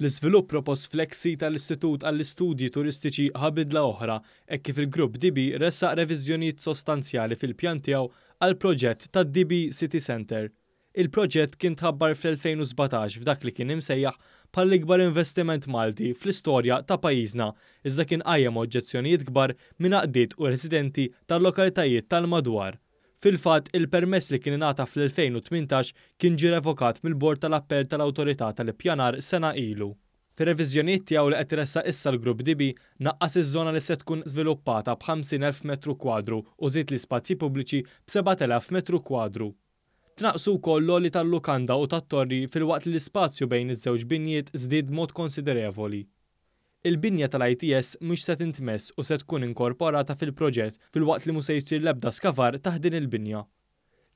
L-iżvilupp propost fl-eks sit tal-Istitut għall-Istudji Turistiċi ħa bidla oħra hekk kif il-Grupp DB ressaq reviżjonijiet sostanzjali fil-pjan tiegħu għall-proġett tad-DB City Centre. Il-proġett kien tħabbar fl-2017 f'dak li kien imsejjaħ bħala l-ikbar investiment Malti fl-istorja ta' pajjiżna iżda kien qajjem oġġezzjonijiet kbar minn għaqdiet u residenti tal-lokalitajiet tal-madwar. Fil-fatt, il-permess li kien ingħata fl-2018 kien ġie revokat mill-Bord tal-Appell tal-Awtorità tal-Ippjanar sena ilu. Fir-reviżjonijiet tiegħu li qed iressaq issa l-Grupp DB naqqas iż-żona li se tkun żviluppata b'50,000 metru kwadru u żied l-ispazji pubbliċi b'7,000 metru kwadru. Tnaqqsu wkoll l-għoli tal-lukanda u tat-torri filwaqt li l-ispazju bejn iż-żewġ binjiet żdied b'mod konsiderevoli. Il-binja tal-ITS mhix se tintmess u se tkun inkorporata fil-proġett filwaqt li mhu se jsir l-ebda skavar taħt din il-binja.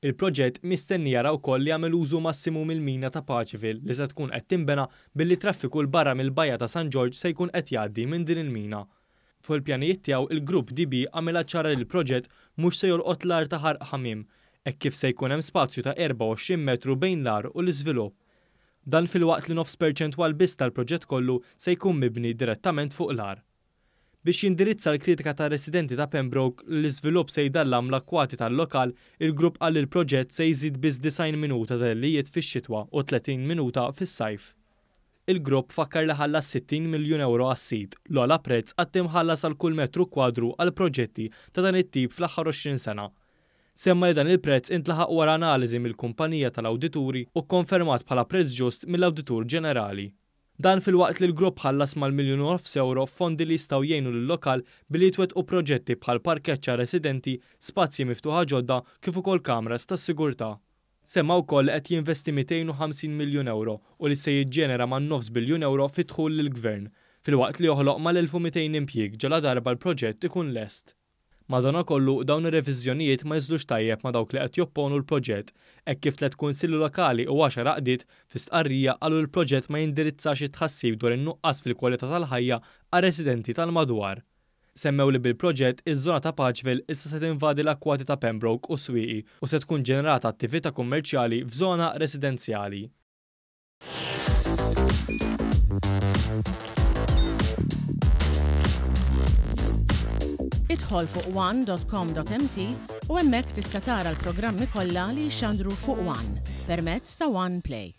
Il-proġett mistenni jara wkoll li jagħmel użu massimu mill-mina ta' Paceville li se tkun qed tinbena billi t-traffiku 'l barra mill-Bajja ta' San Ġorġ se jkun qed jgħaddi minn din il-mina. Fuq il-pjanijiet tiegħu il-Grupp DB għamilha ċara li l-proġett mhux se jolqot l-għar ta' Ħarq Ħamiem hekk kif se jkun hemm spazju ta' 24 metru bejn l-għar u l-iżvilupp. Dan filwaqt li nofs perċentwal biss tal-proġett kollu se jkun mibni direttament fuq l-għar. Biex jindirizza l-kritika tar-residenti ta' Pembroke li l-iżvilupp se jdallam l-akkwati tal-lokal, il-grupp qal li l-proġett se jżid biss 90 minuta ta' dellijiet fix-xitwa u 30 minuta fis-sajf. Il-grupp fakkar li ħallas 60 miljun ewro għas-sit, l-ogħla prezz qatt imħallas għal kull metru kwadru għal proġetti ta' dan it-tip fl-aħħar 20 sena. Semma li dan il-prezz intlaħaq wara analiżi mill-kumpanija tal-awdituri u kkonfermat bħala prezz ġust mill-Awditur Ġenerali. Dan filwaqt li l-grupp ħallas mal-miljun u nofs ewro f'fondi li jistgħu jgħinu lil-lokal billi jitwettqu proġetti bħal parkeġġ għar-residenti, spazji miftuħa ġodda kif ukoll kameras tas-sigurtà. Semma wkoll li qed jinvesti 250 miljun ewro u li se jiġġenera man-nofs biljun ewro fi dħul lill-Gvern, filwaqt li joħloq mal-1,200 impjieg ġaladarba l-proġett ikun lest. Madanakollu, dawn ir-reviżjonijiet ma niżlux tajjeb ma' dawk li qed jopponu l-proġett, hekk kif tlett kunsilli lokali u għaxar għaqdiet, fi stqarrija, qalu li l-proġett ma jindirizzax it-tħassib dwar in-nuqqas fil-kwalità tal-ħajja għar-residenti tal-madwar. Semmew li bil-proġett, iż-żona ta' Paceville issa se tinvadi l-akkwati ta' Pembroke u Swieqi u se tkun ġenerata attività kummerċjali f'żona residenzjali. Idħol fuq one.com.mt u hemmhekk tista' tara l-programmi kollha li jixxandru fuq One permezz ta' One Play.